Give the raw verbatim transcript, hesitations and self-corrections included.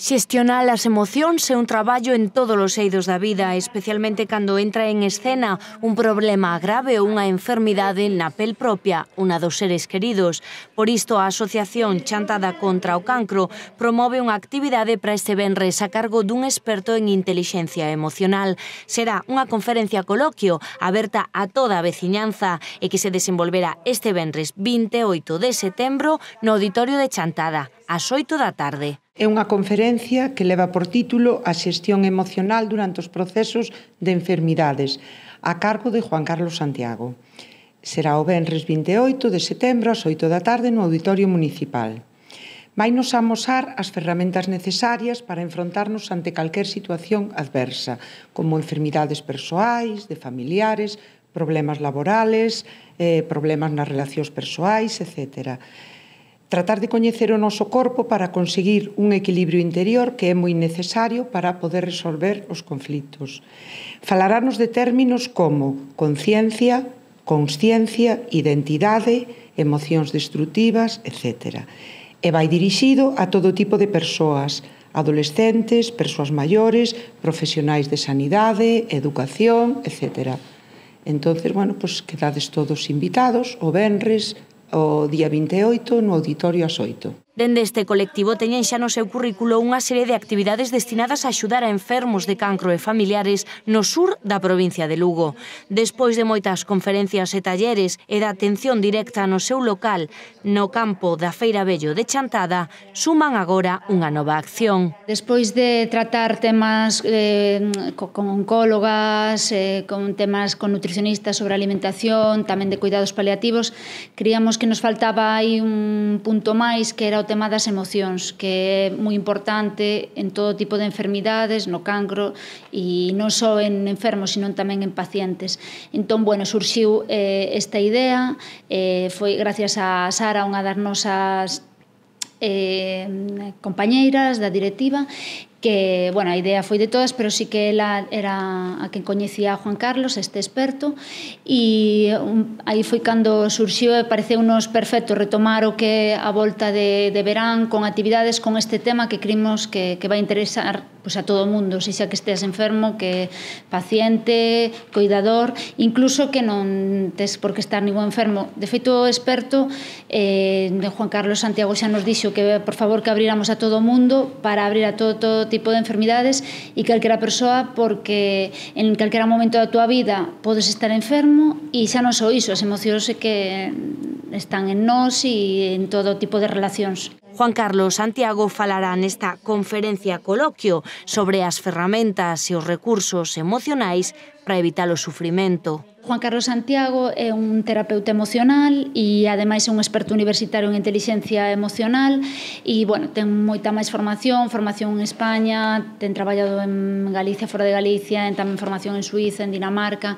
Xestionar as emocións é un traballo en todos os eidos da vida, especialmente cando entra en escena un problema grave ou unha enfermidade na pel propia, unha dos seres queridos. Por isto, a Asociación Chantada contra o Cancro promove unha actividade para este venres a cargo dun experto en intelixencia emocional. Será unha conferencia coloquio aberta a toda a veciñanza e que se desenvolverá este venres vinte e oito de setembro no Auditorio de Chantada, ás oito da tarde. É unha conferencia que leva por título A xestión emocional durante os procesos de enfermidades, a cargo de Juan Carlos Santiago. Será o venres vinte e oito de setembro ás oito da tarde no Auditorio Municipal. Vainos amosar as ferramentas necesarias para enfrontarnos ante calquer situación adversa, como enfermidades persoais, de familiares, problemas laborales, eh, problemas nas relacións persoais, etcétera. Tratar de coñecer o noso corpo para conseguir un equilibrio interior que é moi necesario para poder resolver os conflitos. Falarnos de términos como conciencia, consciencia, identidade, emocións destrutivas, etcétera. E vai dirixido a todo tipo de persoas, adolescentes, persoas maiores, profesionais de sanidade, educación, etcétera. Entón, bueno, pues, quedades todos invitados o venres, o día vinte e oito no Auditorio ás oito. Dende este colectivo teñen xa no seu currículo unha serie de actividades destinadas a axudar a enfermos de cancro e familiares no sur da provincia de Lugo. Despois de moitas conferencias e talleres e da atención directa no seu local, no campo da Feira Vello de Chantada, suman agora unha nova acción. Despois de tratar temas eh, con oncólogas, eh, con temas con nutricionistas sobre alimentación, tamén de cuidados paliativos, creíamos que nos faltaba aí un punto máis que era o tema das emocións, que é moi importante en todo tipo de enfermidades, no cancro, e non só en enfermos, sino tamén en pacientes. Entón, bueno, surxiu eh, esta idea, eh, foi gracias a Sara, unha das nosas eh, compañeiras da directiva, que, bueno, a idea foi de todas, pero sí que ela era a quen coñecía a Juan Carlos, este experto, e um, aí foi cando surxiu e pareceunos perfecto retomar o que a volta de, de verán con actividades con este tema que creemos que, que vai interesar pues, a todo o mundo, xa que estés enfermo, que paciente, cuidador, incluso que non tes por que estar ningún enfermo. De feito, o experto, eh, Juan Carlos Santiago xa nos dixo que, por favor, que abriramos a todo o mundo para abrir a todo, todo tipo de enfermidades e calquera persoa, porque en calquera momento da túa vida podes estar enfermo e xa non só iso, as emocións que están en nós e en todo tipo de relacións. Juan Carlos Santiago falará nesta conferencia coloquio sobre as ferramentas e os recursos emocionais para evitar o sufrimento. Juan Carlos Santiago é un terapeuta emocional e ademais é un experto universitario en intelixencia emocional e, bueno, ten moita máis formación, formación en España, ten traballado en Galicia, fora de Galicia, en tamén formación en Suíza, en Dinamarca.